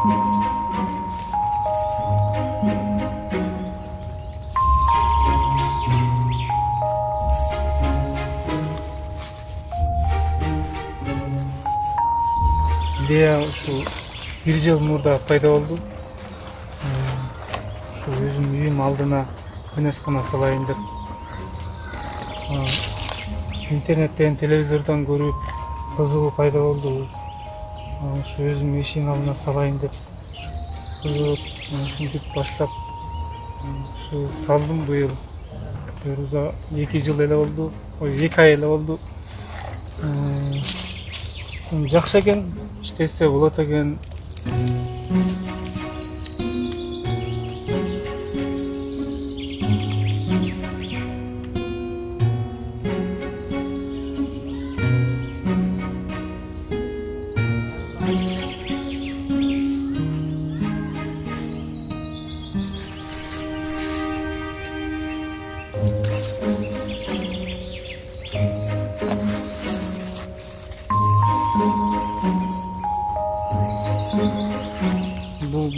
Идея ушу 1 жыл мурда пайда болду. Ушу өзүмдүн үйүм алдына күнөскана салайын деп. Интернеттен, телевизордон көрүп кызыгуу пайда болду. Ушу өзүмдүн эшигиmin алдына салайын деп кызыгып, ушинтип баштап ушу салдым быйыл. Буюрса 2 жыл эле болду. 2 ай эле болду. Жакшы экен, иштесе болот экен.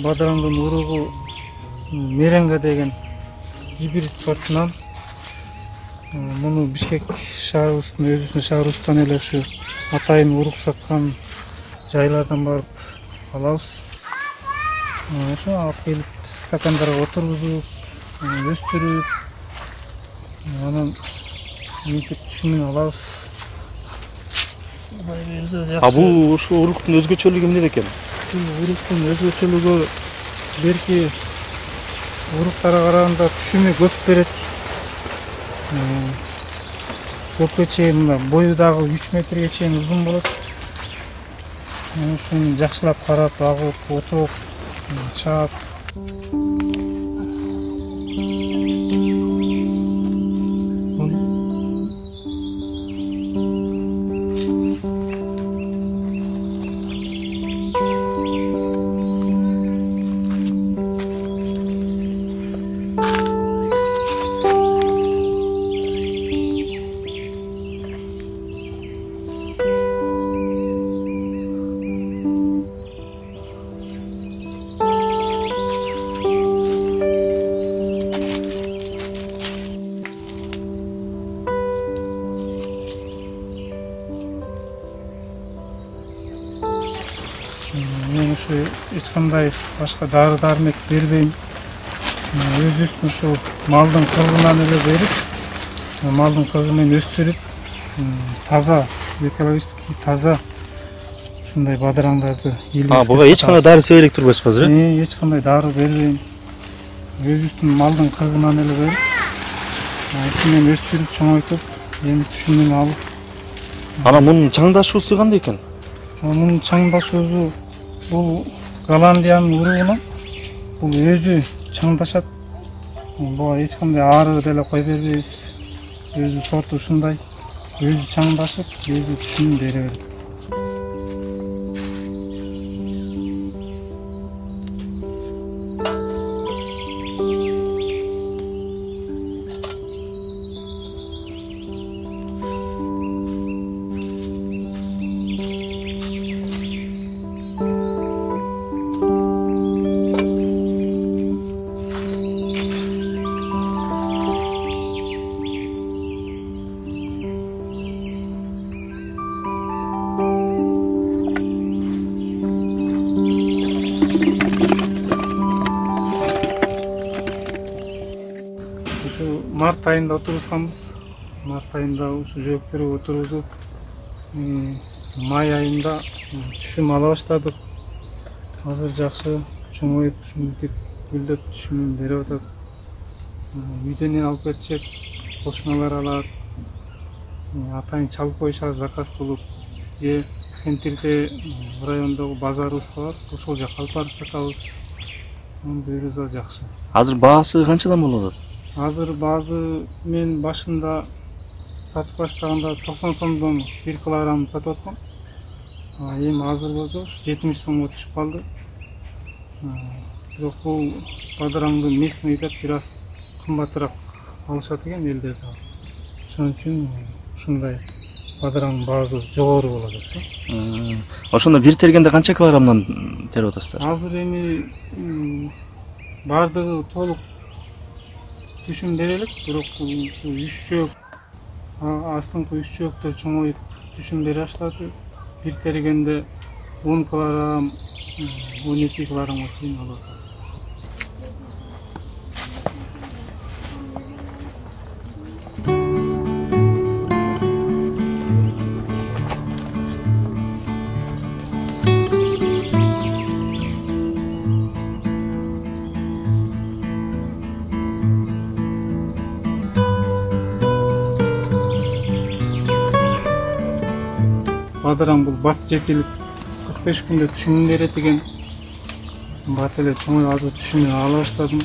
Бадыраңдын уругу меренга деген гибрид сортунан. Муну Бишкек шаарыбыздын өзүбүздүн шаарыбыздан эле ушу атайын урук саткан жайлардан барып алабыз. Ошо алып келип стакандарга отургузуп, өстүрүп, анан мынтип түшүмүн алабыз. Бул ушу уруктун өзгөчөлүгү эмнеде экен? Уруктун өзгөчөлүгү берки уруктарга караганда түшүмү көп берет. Көпкө чейин бою дагы 3 метрге чейин узун болот. Ушуну жакшылап карап, агып, отуруп, чаап. Мен ушу эч кандай башка дары-дармек бербейм. Өзүбүздүн ушу малдын кыргынан эле берип, малдын кыргы менен өстүрүп, таза, экологический таза ушундай бадыраңдарды илип. Буга эч кандай дары себелек турбайсызбы азыр? Эч кандай дары бербейм. Өзүбүздүн малдын кыргынан эле берип, ушу менен өстүрүп, чоңойтуп, эми түшүмүн алып. Анан мунун чаңдашуусу кандай экен? Мунун чаңдашуусу бул Голландиянын уругунан бул өзү чаңдашат. Буга эч кандай ары деле кой бербейбиз. Өзү сорту ушундай. Өзү чаңдашып, өзү түшүмүн бере берет. Март айында отургузганбыз. Март айында ушу жөөктөргө отургузуп, май айында түшүм ала баштадык. Азыр жакшы чоңоюп, ушинтип гүлдөп түшүмүн берип атат. Үйдөн алып кетишет, кошуналар алат. Атайын чалып коюшат заказ кылып. Же центрде райондогу базарыбыз бар, ошол жака алып барып сатабыз. Буюрса жакшы. Азыр баасы канчадан болуп атат? Азыр баазы мен башында сатып баштаганда 90 сомдон 1 килограмм сатып аткам. Эми азыр болсо 70 сомго түшүп калды. Бирок бул бадыраңды местный деп бир аз кымбатыраак алышат экен элдер да. Ошон үчүн ушундай бадыраңдын баасы жогору болот да. Ошондо бир тергенде канча килограммдан терип атасыздар? Азыр эми баардыгы толук түшүм бере элек, бирок ушу 3 чөөк, астыңкы 3 чөөктөр чоңоюп түшүм бере баштады. Бир тергенде 10 килограмм, 12 килограммга чейин алып атабыз. Бадыраң бул бат жетилип 45 күндө түшүмүн берет экен. Бат эле чоңоюп азыр түшүмүн ала баштадым.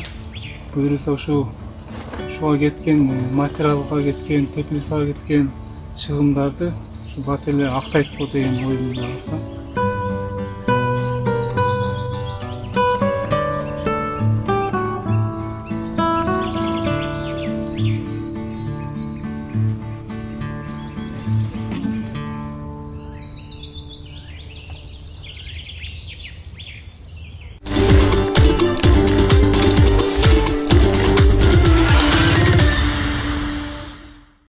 Буюрса ушуга кеткен материалга кеткен, теплицага кеткен чыгымдарды ушу бат эле актайт го деген ойдун бар да.